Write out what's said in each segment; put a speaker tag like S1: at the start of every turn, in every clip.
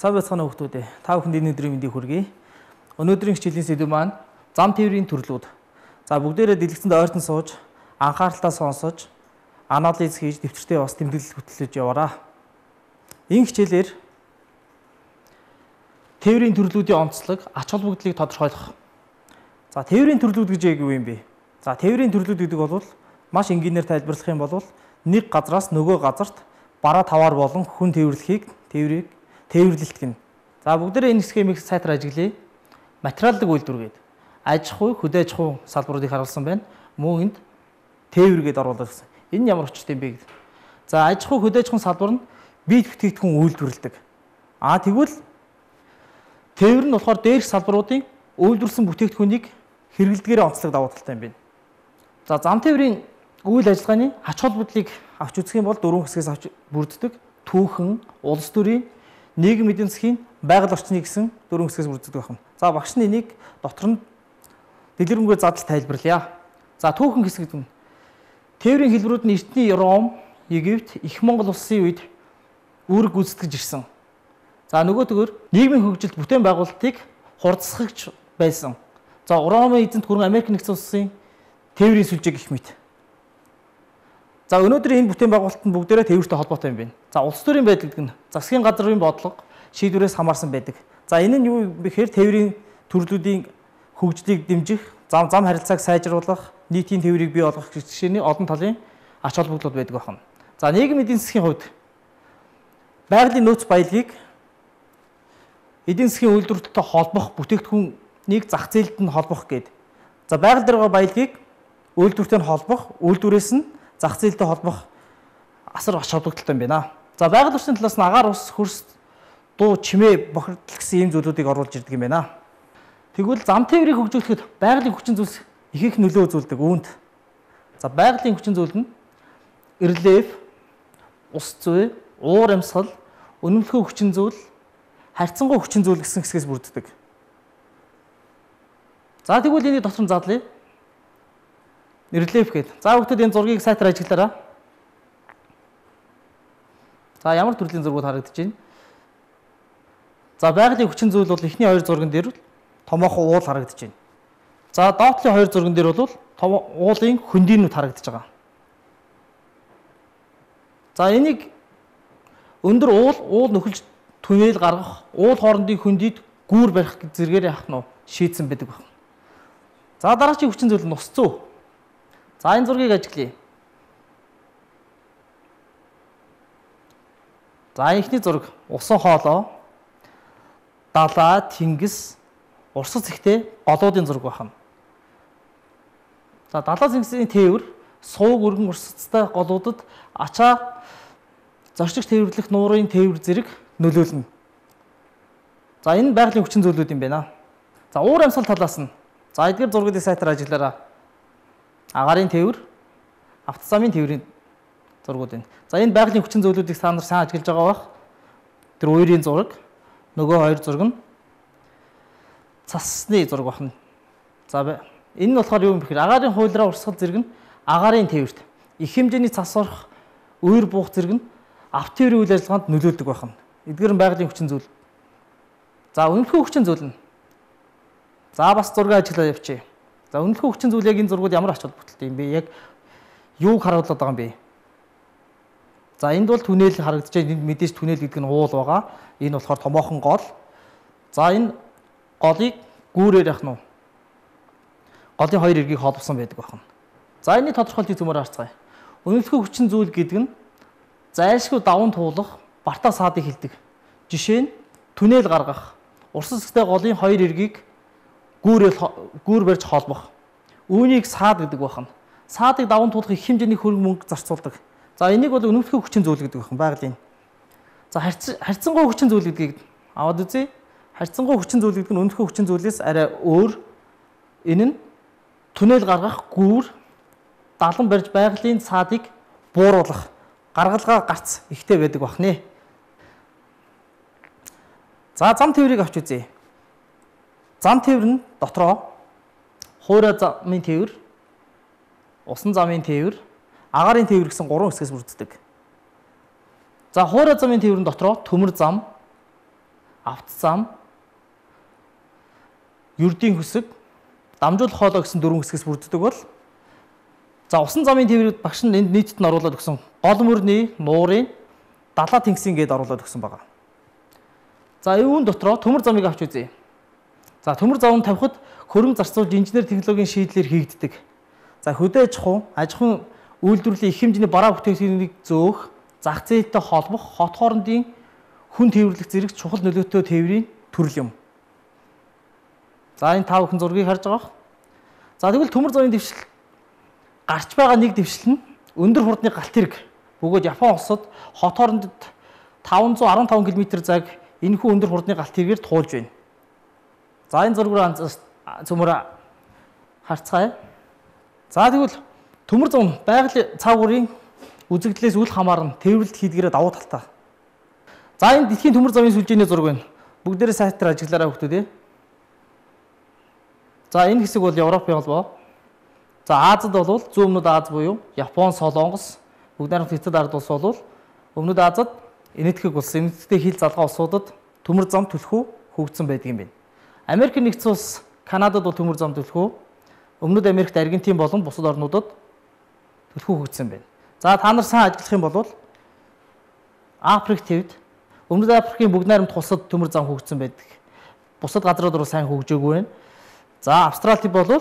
S1: Сайн байцгаана уу хүмүүс. Та бүхэнд энэ өдрийн мэндийг хүргэе. Өнөөдрийн хичээлийн сэдэв маань зам тээврийн төрлүүд. За бүгдээрээ дэлгэцэнд ойртон сууж, анхааралтай сонсож, анализ хийж, дэвтэртээ бас тэмдэглэл хөтлөж яваарай. Энэ хичээлээр тээврийн төрлүүдийн онцлог, ач холбогдлыг тодорхойлох. За тээврийн төрлүүд гэж юу юм бэ? За тээврийн төрлүүд гэдэг бол маш энгийнээр тайлбарлах юм бол нэг газраас нөгөө газарт бараа таваар болон хүн тээвэрлэхийг тээвэрлэлт гэнэ. За бүгдээрээ энэ схемийг сайтар ажиглая. Материалдаг үйлдвэр гээд аж ахуй, хөдөө аж ахуй салбаруудыг харуулсан байна. Мөн энд тээвэр гээд оруулаад гэсэн. Энэ ямар учиртай юм бэ гэдэг. За аж ахуй, хөдөө аж ахуйн салбар нь бие бүтээгдэхүүн үйлдвэрлэдэг. Тэгвэл тээвэр нь болохоор дээрх салбаруудын үйлдвэрлэсэн бүтээгдэхүүнийг хэрэглэдгээрээ онцлог давуу талтай юм байна. За зам тээврийн үйл ажиллагааны ач холбогдлыг авч үзэх юм бол дөрвөн хэсгээс авч бүрддэг. Түүхэн, улс төрийн, нийгэм эдийн засгийн, байгаль орчны гэсэн дөрвөн хэсгээс бүрддэг байна. За багш нь энийг дотор нь дэлгэрэнгүй задлал тайлбарлая. За түүхэн хэсэг гэдэг нь тээврийн хэлбэрүүд нь эртний Ром, Египт, Их Монгол улсын үед үүрэг гүйцэтгэж ирсэн. За нөгөөдгөр нийгмийн хөгжилд бүтээн байгуулалтыг хурцсахж байсан. За Ромын эзэнт гүрэн Америк нэгдсэн улсын тээврийн сүлжээ гэх мэт. За өнөөдөр энэ бүтээн байгуулалт нь бүгдээрээ тээвэртэй холбоотой юм байна. За улс төрийн байдал гэдэг нь засгийн газрын бодлого шийдвэрээс хамаарсан байдаг. За энэ нь юу гэхээр тээврийн төрлүүдийн хөгжлийг дэмжих, зам харилцааг сайжруулах, нийтийн тээврийг бий болгох гэх жишээний олон талын ач холбогдлууд байдаг байна. За нийгэм эдийн засгийн хувьд байгалийн нөөц баялагийг эдийн засгийн үйлдвэрлэлтэй холбох бүтээгдэхүүнийг зах зээлд нь холбох гээд. За байгаль дээр байгаа баялагийг үйлдвэртэй холбох, үйлдвэрээс нь зах зээлтэй холбох асар ач холбогдолтой юм байна. За байгаль орчны талаас нь агаар ус, хөрс, дуу, чимээ, бохирдол гэсэн ийм зүйлүүдийг оруулж ирдэг юм байна. Тэгвэл зам тээврийг хөгжүүлэхэд байгалийн хүчин зүйлс их нөлөө үзүүлдэг үүнд. За байгалийн хүчин зүйл нь рельеф, ус зүй, уур амьсгал, үнэмлэхүй хүчин зүйл, харьцангуй хүчин зүйл гэсэн хэсгээс бүрддэг. За тэгвэл энийг дотор нь задлая. Рельеф гээд. За бүгдээд энэ зургийг сайтар ажиглаарай. За ямар төрлийн зургууд харагдаж байна? За байгалийн хүчин зүйл бол эхний хоёр зурган дээр томоохон уул харагдаж байна. За доотлын хоёр зурган дээр бол уулын хөндийнүүд харагдаж байгаа. За энийг өндөр уул нөхөлж түнэл гаргах, уул хоорондын хөндийд гүүр барих зэргээр яах нь шийдсэн байдаг байна. За дараагийн хүчин зүйл нь ус зүй. За энэ зургийг ажиглая. За эхний зураг усан хоолой, далай, тэнгис, урсгал зэгтэй голуудын зураг байна. За далай зэнгисийн тээвэр сууг өргөн урсгалтай голуудад ачаа зорчигч тээвэрлэх нуурын тээвэр зэрэг нөлөөлнө. За энэ байгалийн хүчин зүйлүүд юм байна. За уур амьсгал талаас нь. За эдгээр зургуудыг сайтар ажиглаарай. Агаарын тээвэр, автозамын тээврийн зургууд байна. За энэ байгалийн хүчин зүйлүүдийг та нар сайн ажиглаж байгаа бах. Тэр уурын зураг, нөгөө хоёр зураг нь цасны зураг байна. За энэ нь болохоор юу юм бэ гэхээр агаарын хуулиараа урсгал зэрэг нь агаарын тээвэрт их хэмжээний цас орох, уур буух зэрэг нь авто тээврийн үйл ажиллагаанд нөлөөлдөг байна. Эдгээр нь байгалийн хүчин зүйл. За үнэмлэхүй хүчин зүйл нь. За бас зураг ажиглаа явчих. За үнэмлэхүй хүчин зүйл яг энэ зургууд ямар ач холбогдолтой юм бэ? Яг юуг харуулдаг байгаа юм бэ? За энд бол түнэл харагдаж байна. Энд мэдээж түнэл гэдэг нь уул байгаа. Энэ болохоор томоохон гол. За энэ голыг гүүрээр яах нь вэ? Голын хоёр эргийг холбосон байдаг байна. За энэний тодорхойлтыг зөмөр харцгаая. Үнэмлэхүй хүчин зүйл гэдэг нь зайлшгүй даван туулах, бартаа саадыг хэлдэг. Жишээ нь түнэл гаргах, урсгал зэгтэй голын хоёр эргийг гүүр барьж холбох. Үүнийг саад гэдэг байна. Саадыг даван туулах их хэмжээний хөрөнгө мөнгө зарцуулдаг. За энийг бол үнэмлэхүй хүчин зүйл гэдэг байна байгалийн. За харьцангуй хүчин зүйл гэдгийг аваад үзье. Харьцангуй хүчин зүйл гэдэг нь үнэмлэхүй хүчин зүйлээс арай өөр. Энэ нь түнэл гаргах, гүүр, далан барьж байгалийн саадыг бууруулах, гаргалгаа гарц ихтэй байдаг байна. За зам тээврийг авч үзье. Зам тээвэр нь дотроо хуурай замын тээвэр, усан замын тээвэр, агаарын тээвэр гэсэн гурван хэсгээс бүрддэг. За хуурай замын тээврийн дотроо төмөр зам, авт зам, ердийн хөсөг, дамжуулах хоолой гэсэн дөрвөн хэсгээс бүрддэг бол за усан замын тээврийг багш нь энд нийтэд нь оруулаад өгсөн. Гол мөрний, нуурын, далаа тэнгисийн гээд оруулаад өгсөн байгаа. За үүн дотроо төмөр замыг авч үзье. За төмөр зам тавихад хөрөнгө зарцуулж инженер технологийн шийдлэр хийгддэг. За хөдөө аж ахуйн үйлдвэрлэлийн их хэмжээний бараа бүтээгдэхүүнийг зөөх, зах зээлтэй холбох, хот хоорондын хүн тээвэрлэх зэрэг чухал нөлөөтэй тээврийн төрөл юм. За энэ та бүхэн зургийг харж байгаа. За тэгвэл төмөр замын дэвшил гарч байгаа нэг дэвшил нь өндөр хурдны галт хэрэг бөгөөд Япон улсад хот хоорондод 515 км цаг энэхүү өндөр хурдны галт хэрэгээр туулж байна. За энэ зураг руу цөмөр харцгаая. За тэгвэл төмөр зам байгалийн цав бүрийн үзэгдлээс үл хамааран тээвэрлэлт хийдгээрээ давуу талтай. За энэ дэлхийн төмөр замын сүлжээний зураг байна. Бүгдээрээ сайтар ажиглаарай хүүхдүүд. За энэ хэсэг бол Европын холбоо. За Азад бол зүүн өмнөд Аз буюу Япон, Солонгос, бүгд найрамд Хятад ард улс бол өмнөд Азад энэтхэг улс, энэтхэгтэй хил залгаа улсуудад төмөр зам түлхүү хөгжсөн байдаг юм байна. Америк нэгдсэн улс, Канадад бол төмөр зам түлхүү, өмнөд Америкт Аргентин болон бусад орнуудад түлхүү хөгжсөн байна. За та нар сайн ажиллах юм бол Африк төвд, өмнөд Африкийн бүгд найрамд улсад төмөр зам хөгжсөн байдаг. Бусад газрууд руу сайн хөгжөөгүй байна. За Австралид бол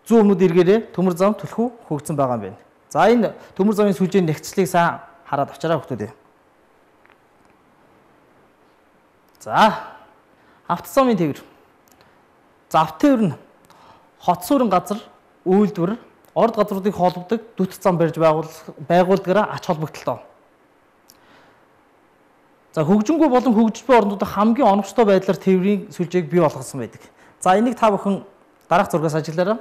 S1: зүүн өмнөд эргээрээ төмөр зам түлхүү хөгжсөн байгаа юм байна. За энэ төмөр замын сүлжээний нэгцлийг сайн хараад авчаарай хүүхдүүд. За автозамын тээвэр. За автотээвэр нь хот суурин газар, үйлдвэр, орд газруудыг холбодог дүт зам барьж байгууллагаараа ач холбогдолтой. За хөгжингүй болон хөгжиж буй орнуудад хамгийн оновчтой байдлаар тээврийн сүлжээг бий болгосон байдаг. За энийг та бүхэн дараах зургаас ажиглаарай.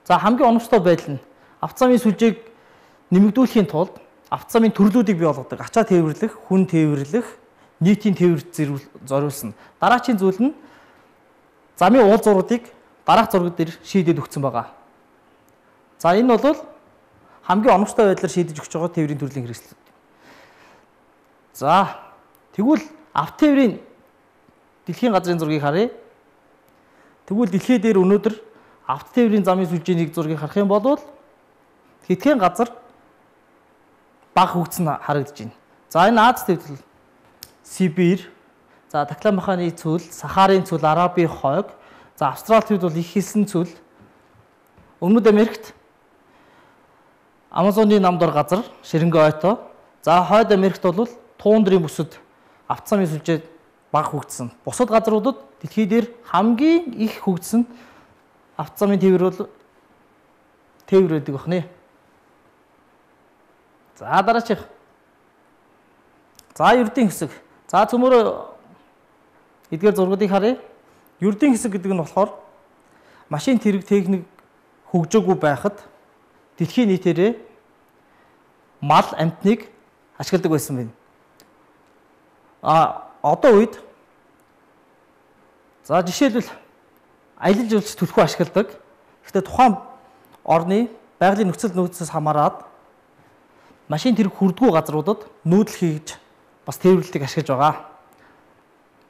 S1: За хамгийн оновчтой байдал нь автозамын сүлжээг нэмэгдүүлэхийн тулд автозамын төрлүүдийг бий болгодог. Ачаа тээвэрлэх, хүн тээвэрлэх, нийтийн тээвэрлэлд зориулсан. Дараачийн зүйл нь замын уул зургуудыг дараах зураг дээр шийдээд өгсөн байгаа. За энэ бол хамгийн оновчтой байдлаар шийдэж өгч байгаа тээврийн төрлийн хэрэгслүүд. За тэгвэл автотээврийн дэлхийн газрын зургийг харъя. Тэгвэл дэлхий дээр өнөөдөр автотээврийн замын сүлжээний зургийг харах юм бол хэдхэн газар бага хөгжсөн харагдаж байна. За энэ Аз төвд Сибирь, за Таклама-маханы цөл, Сахарын цөл, Арабын хойг, за Австрали төвд бол их хэлсэн цөл, өмнөд Америкт Амазоны намдор газар, Шеренгево ойто, за хойд Америкт бол туундрын бүсэд автозамын сүлжээ бага хөгжсөн. Бусад газруудад дэлхий дээр хамгийн их хөгжсөн автозамын тээвэр бол тээвэр байдаг бахны. За дараачих. За ердийн хэсэг. За цөмөр эдгээр зургуудыг харъя. Ердийн хэсэг гэдэг нь болохоор машин тэрэг техник хөгжөөгүй байхад дэлхийн нийтээрээ мал амьтныг ашигладаг байсан байна. Одоо үед за жишээлбэл аялал жуулч түлхүү ашигладаг. Гэхдээ тухайн орны байгалийн нөхцөл нөөцөөс хамаарат машин тэрэг хүрдгүү газруудад нүүдэл хийж бас тээвэрлэлтийг ашиглаж байгаа.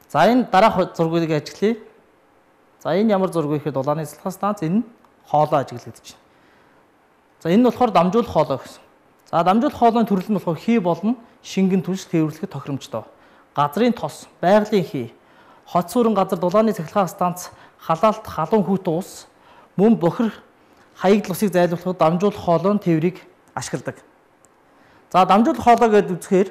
S1: За энэ дараах зургуудыг ажиглая. За энэ ямар зураг вэ гэхэд улааны цэцлэгийн станц, энэ хоолой ажиглагдаж байна. За энэ нь болохоор дамжуулах хоолой гэсэн. За дамжуулах хоолойн төрөл нь болохоор хий болон шингэн түлш тээвэрлэхэд тохиромжтой. Газрын тос, байгалийн хий, хот суурин газар, дулааны цэцлэгийн станц, халаалт, халуун хүүт уус, мөн бохир хаягдл усыг зайлуулахад дамжуулах хоолойн тээврийг ашигладаг. За дамжуулах хоолой гэдэг үзэхээр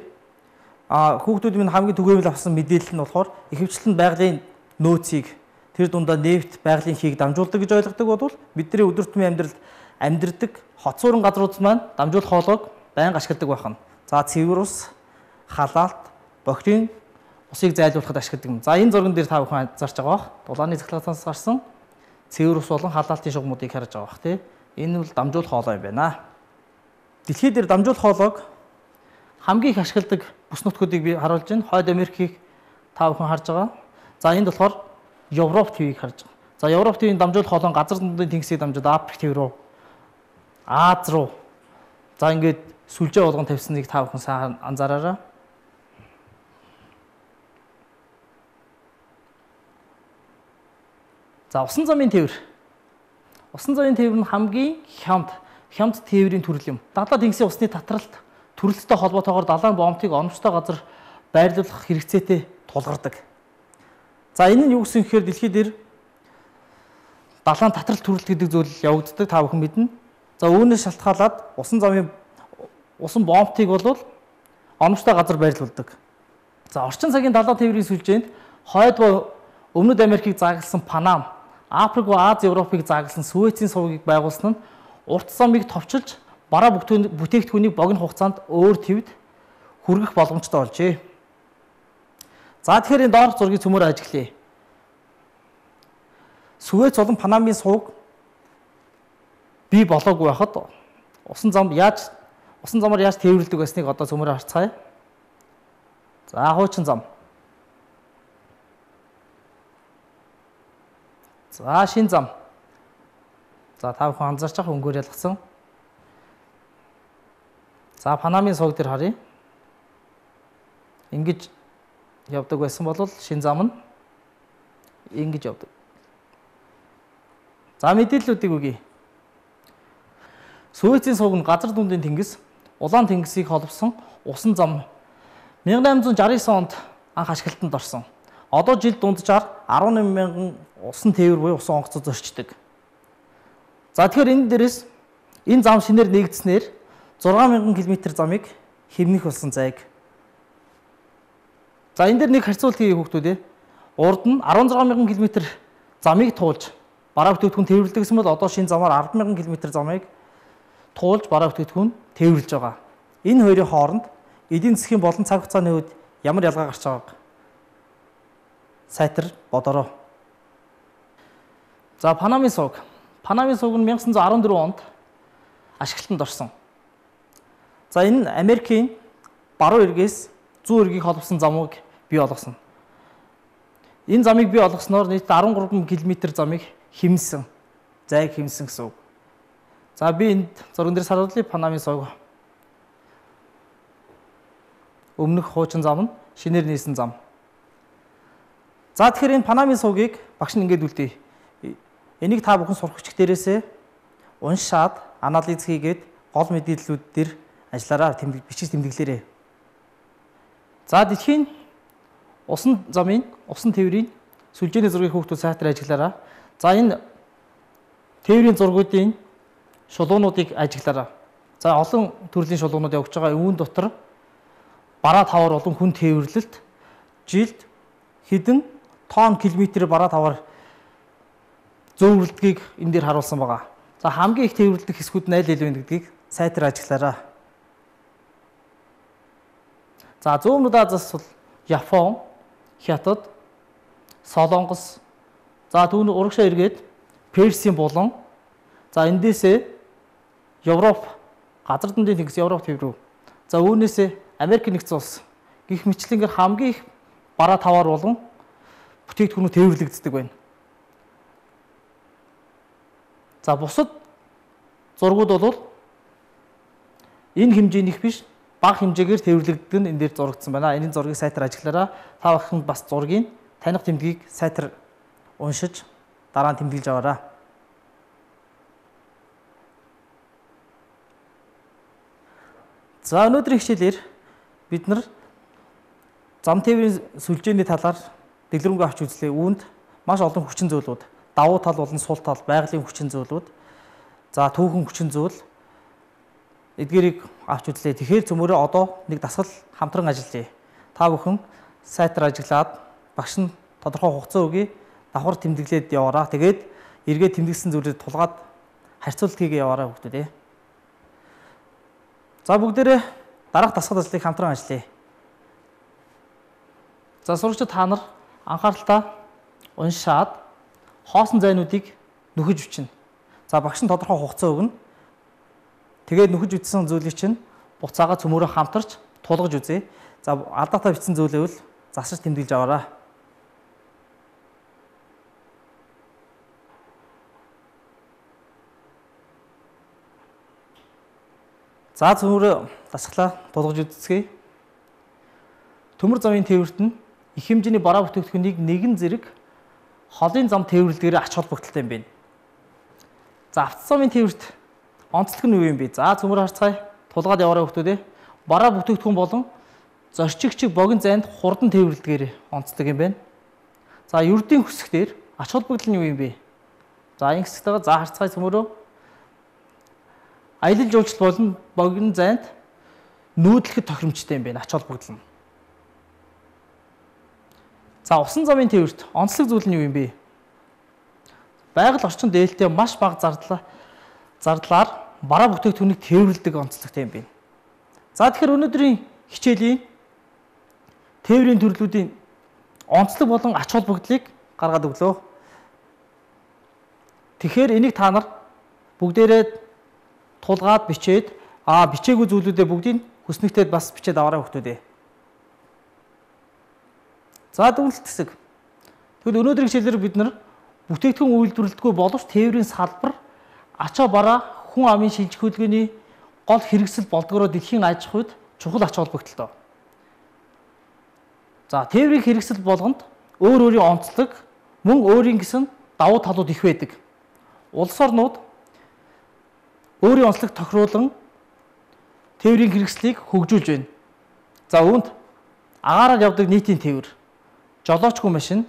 S1: хүүхдүүд минь хамгийн түгээмэл авсан мэдээлэл нь болохоор ихэвчлэн байгалийн нөөцийг тэр дундаа нефт, байгалийн хийг дамжуулдаг гэж ойлгодог бол бидний өдөр тутмын амьдралд амьдардаг хот суурин газрууд маань дамжуулах хоолойг байнга ашигладаг байх нь. За цэвэр ус, халаалт, бохирын усыг зайлуулахад ашигладаг юм. За энэ зурган дээр та бүхэн анзаарч байгаа бах. Дулааны цэцлэгээс гарсан цэвэр ус болон халаалтын шугамуудыг харж байгаа бах тий. Энэ бол дамжуулах хоолой юм байна. Дэлхий дээр дамжуулах хоолойг хамгийн их ашигладаг бүс нутгуудыг би харуулж байна. Хойд Америкийг та бүхэн харж байгаа. За энд болохоор Европ твийг харж байгаа. За Европ твийн дамжуулах хоолой газар дундын тэнгисийг дамжаад Африк төв рүү, Аз руу. За ингээд сүлжээ болгон тавьсныг та бүхэн сайн анзаараарай. За усан замын тээвэр. Усан замын тээвэр нь хамгийн хямд тээврийн төрөл юм. Далаа тэнгисийн усны татралт төрөлттэй холбоотойгоор далайн бомтыг оновчтой газар байрлуулах хэрэгцээтэй тулгардаг. За энэ нь юу гэсэн гэхээр дэлхий дээр далайн татралт төрөлт гэдэг зүйл явагддаг, та бүхэн мэднэ. За үүнээс шалтгаалаад усан бомтыг бол оновчтой газар байрлуулдаг. За орчин цагийн далайн тээврийн сүлжээнд хойд ба Өмнөд Америкийг заагласан Панам, Африк ба Аз, Европыг заагласан Суэцийн сувгийг байгуулсан нь урт замыг товчилж бараа бүтээгдэхүүнийг богино хугацаанд өөр твд хүргэх боломжтой болжээ. За тэгэхээр энэ доорх зургийг цөмөөр ажиглая. Суэц болон Панамын сувг бий болоогүй байхад усан замаар яаж тээвэрлэдэг байсныг одоо цөмөөр харцгаая. За хуучин зам. За шин зам. За та бүхэн анзаарч байгаа өнгөөр ялгсан. За Панамын сувг дээр харъя. Ингэж явдаг байсан бол шин зам нь ингэж явдаг. За мэдээллүүдийг үгэй. Суэцийн сувг нь газар дундын тэнгис, улаан тэнгисийг холбосон усан зам 1869 онд анх ашиглалтанд орсон. Одоо жил дунджаар 18,000 усан тээвэр буюу усан онгоцоо зорчдог. За тэгэхээр энэ дээрээс энэ зам шинээр нэгдснээр 6,000 км замыг хэмнэх болсон зайг. За энэ дээр нэг харьцуулт хийе хүүхдүүд. Урд нь 16,000 км замыг туулж бараа бүтээгдэхүүн тээвэрлэдэг гэсэн бол одоо шинэ замаар 10,000 км замыг туулж бараа бүтээгдэхүүн тээвэрлэж байгаа. Энэ хоёрын хооронд эдийн засгийн болон цаг хугацааны үед ямар ялгаа гарч байгааг сайтар бодороо. За Панамын сувг. Панамын сувг нь 1914 онд ашиглалтанд орсон. За энэ нь Америкийн баруун эргээс зүүн эргийг холбосон замыг бий болгосон. Энэ замыг бий болгосноор нийт 13 км замыг хэмнсэн, зайг хэмнсэн гэсэн үг. За би энд зурган дээр харуулъя. Панамын сувг. Өмнөх хуучин зам нь шинээр нийсэн зам. За тэгэхээр энэ Панамын сувгийг багш нь ингэж үлдээе. Энийг та бүхэн сурах хүчиг дээрээсээ уншаад анализ хийгээд гол мэдээллүүд дээр ажиллаараа бичиж тэмдэглээрэй. За дэлхийн усан тээврийн сүлжээний зургийг хүүхдүүд сайтар ажиглаараа. За энэ тээврийн зургуудын шулуунуудыг ажиглаараа. За олон төрлийн шулуунууд явж байгаа. Үүн дотор бараа тавар болон хүн тээвэрлэлт жилд хэдэн тонн километр бараа тавар зөвлөлдгийг энэ дээр харуулсан байгаа. За хамгийн их тээвэрлэдэг хэсгүүд нь аль вэ гэдгийг сайтар ажиглаараа. За зүүн өмнөд Азиас бол Япон, Хятад, Солонгос, за түүний урагшаа эргээд Персийн булан, за эндээсээ Европ, газар дундын тэнгис Европ тээврүү. За үүнээсээ Америк нэгдсэн улс гих мэтлэнгээр хамгийн их бараа тавар болон бүтээгдэхүүнүүд тээвэрлэгддэг байна. За бусад зургууд бол энэ хэмжээнийх биш, бага хэмжээгээр тээвэрлэгддэг нь энэ дээр зурагдсан байна. Энэ зургийг сайтар ажиглаараа. Та бүхэн бас зургийг таних тэмдгийг сайтар уншиж дараа нь тэмдэглэж аваарай. За өнөөдрийн хичээлээр бид нар зам тээврийн сүлжээний талаар дэлгэрэнгүй авч үзлээ. Үүнд маш олон хүчин зүйлүүд, давуу тал болон сул тал, байгалийн хүчин зүйлүүд, за түүхэн хүчин зүйл эдгээрийг авч үзлээ. Тэгэхээр цөмөрөө одоо нэг дасгал хамтран ажиллая. Та бүхэн сайтар ажиглаад багш нь тодорхой хугацаа өгье. Давхар тэмдэглээд яваараа. Тэгээд эргээд тэмдэглэсэн зүйлээр тулгаад харьцуулт хийгээ яваараа хүүхдүүд. За бүгдээрээ дараах дасгал ажлыг хамтран ажиллая. За сурагчид та нар анхааралтай уншаад хоосон зайнуудыг нөхөж бичнэ. За багш нь тодорхой хугацаа өгнө. Тэгээд нөхөж бичсэн зүйлийг чинь буцаага цөмөрөө хамтарч тулгаж үзье. За алдаатай бичсэн зүйлээвэл засаж тэмдэглэж аваарай. За цөмөрөө дасглаа тулгаж үзье. Төмөр замын тээвэрт нь их хэмжээний бараа бүтээгдэхүүнийг нэгэн зэрэг холын зам тээвэрлэдгээр ач холбогдолтой юм байна. За автозамын тээвэрт онцлог нь юу юм бэ? За цөмөр харцгаая. Тулгаад яваарай хүмүүстээ. Бараа бүтээгдэхүүн болон зорчигчиг богино зайд хурдан тээвэрлэдгээр онцлог юм байна. За ердийн хүсгээр ач холбогдол нь юу юм бэ? За энэ хэсэгтэйгээ за харцгаая цөмөрөө. Аялал жуулчлал болон богино зайд нүүдлэхэд тохиромжтой юм байна ач холбогдол нь. За усан замын тээвэрт онцлог зүйл нь юу юм бэ? Байгаль орчин дээлтэй маш бага зардлаар бараа бүтээгдэхүүнийг тээвэрлэдэг онцлогтой юм байна. За тэгэхээр өнөөдрийн хичээлийн тээврийн төрлүүдийн онцлог болон ач холбогдлыг гаргаад өглөө. Тэгэхээр энийг та нар бүгдээрээ тулгаад бичээд бичээгүй зүйлүүдээ бүгдийг хүснэгтээд бас бичээд аваарай хүмүүстээ. За дүгнэлт хэсэг. Тэгвэл өнөөдрийн хичээлээр бид нар бүтээгдэхүүн үйлдвэрлэдэггүй боловч тээврийн салбар ачаа бараа хүн амын шинжлэх хөдөлгөөний гол хэрэгсэл болдгороо дэлхийн аж ахуйд чухал ач холбогдолтой. За тээврийн хэрэгсэл болгонд өөр өөрийн онцлог мөн өөрийн гэсэн давуу талууд их байдаг. Улс орнууд өөрийн онцлог тохируулан тээврийн хэрэгслийг хөгжүүлж байна. За үүнд агаараар явдаг нийтийн тээвэр, жолоочгүй машин,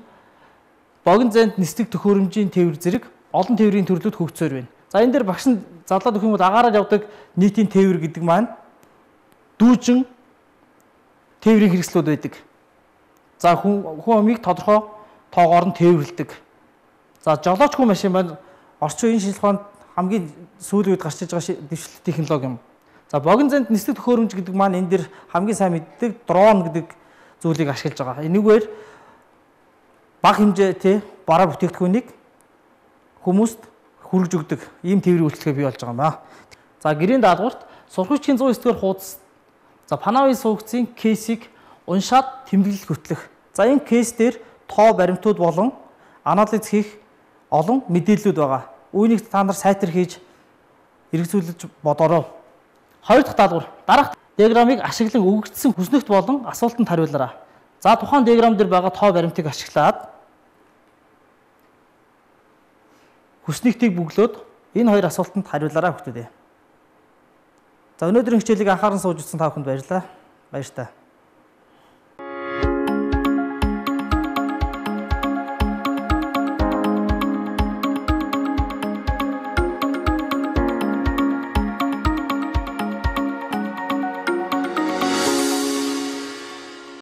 S1: богино зайд нислэг төхөөрөмжийн тээвэр зэрэг олон тээврийн төрлүүд хөгжсөөр байна. За энэ дээр багш нь задлаад өгөх юм бол агаараар явдаг нийтийн тээвэр гэдэг маань дүүжин тээврийн хэрэгслүүд байдаг. За хүн амыг тодорхой тоогоор нь тээвэрлэдэг. За жолоочгүй машин маань орчин үеийн шинжилгээ ухаанд хамгийн сүүлийн үед гарч иж байгаа дэвшилт технологи юм. За богино зайд нислэг төхөөрөмж гэдэг маань энэ дэр хамгийн сайн мэддэг дрон гэдэг зүйлийг ашиглаж байгаа. Энэгээр бага хэмжээтэй бараа бүтээгдэхүүнийг хүмүүст хүргэж өгдөг ийм тээврийн үйлчлэгээ бий болж байгаа юм аа. За гэрийн даалгаварт сургагчийн 109-р хуудас Панавын суугцын кейсийг уншаад тэмдэглэл хөтлөх. За энэ кейс дээр тоо баримтууд болон анализ хийх олон мэдээллүүд байгаа. Үүнийг та нар сайтар хийж хэрэгжүүлж бодорой. Хоёр дахь даалгавар. Дараах диаграмыг ашиглан өгөгдсөн хүснэгт болон асуултанд хариулаарай. За тухайн диаграм дээр байгаа тоо баримтыг ашиглаад хүснэгтийг бөглөөд энэ хоёр асуултанд хариулаарай хүмүүстээ. За өнөөдрийн хичээлийг анхааран сууж үзсэн та бүхэнд баярлалаа. Баяр та.